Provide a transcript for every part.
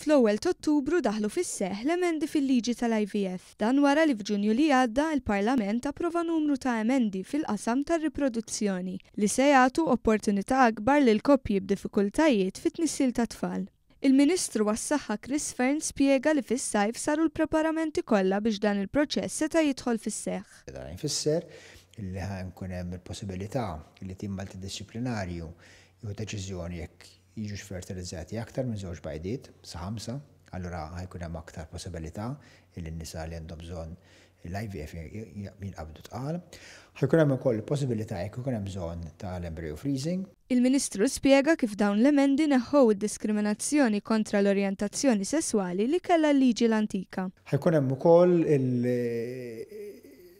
Fl-ewwel t'Ottubru daħlu fis-seħħ l-emendi fil-liġi tal-IVF. Dan wara li f'Ġunju li għadda il-Parlament approva numru ta' emendi fil-qasam tar-riproduzzjoni li se jagħtu opportunità akbar lil koppji b'diffikultajiet fit-tnissil ta' tfal. Il-Ministru għas-Saħħa Chris Fearne spjega li fis-sajf saru l-preparamenti kollha biex dan il-proċess seta' jidħol fis-seħħ. Dan jfisser li ħa jkun hemm il-possibilità li tim multidixxiplinarju jieħu deċiżjoni jekk jiġux fertilizzati aktar minn żewġ bajdiet, sa 5, allura ħa jkun hemm aktar possibilità li n-nisa li għandhom bżonn l-IVF jinqabdu tqal. Ħa jkun hemm ukoll possibilità jekk ikun hemm bżonn tal-embryo freezing. Il-Ministru spjega kif dawn l-emendi neħħow id-diskriminazzjoni kontra l-orjentazzjoni sesswali li kellha l-liġi l-antika. Ħa jkun hemm ukoll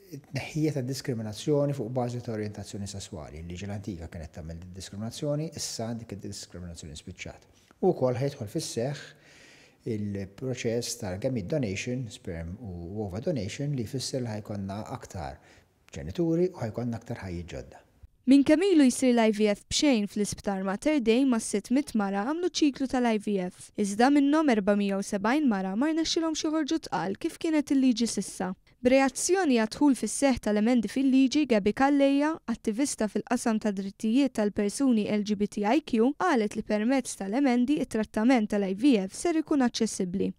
il-tneħħija ta' diskriminazzjoni fuq bażi ta' orjentazzjoni sesswali. Il-liġi l-antika kienet tagħmel diskriminazzjoni, issa dik id-diskriminazzjoni spiċċat. U wkoll ħa jidħol fis-seħħ il-proċess tal-gamete donation, sperm u ova donation, li jfisser li ħa jkollna aktar ġenituri u ħa jkollna aktar ħajjiet ġodda. Minn kemm ilu jsir l-IVF b'xejn fl-Isptar Mater Dei, mas-600 mara għamlu ċiklu tal-IVF. Iżda minnhom 470 mara ma rnexxilhomx joħorġu tqal kif kienet il-liġi s'issa. B'reazzjoni għad-dħul fis-seħħ tal-emendi fil-liġi, Gabi Calleja, attivista fil-qasam ta' drittijiet tal-persuni LGBTIQ, qalet li permezz tal-emendi it-trattament tal-IVF ser ikun aċċessibbli.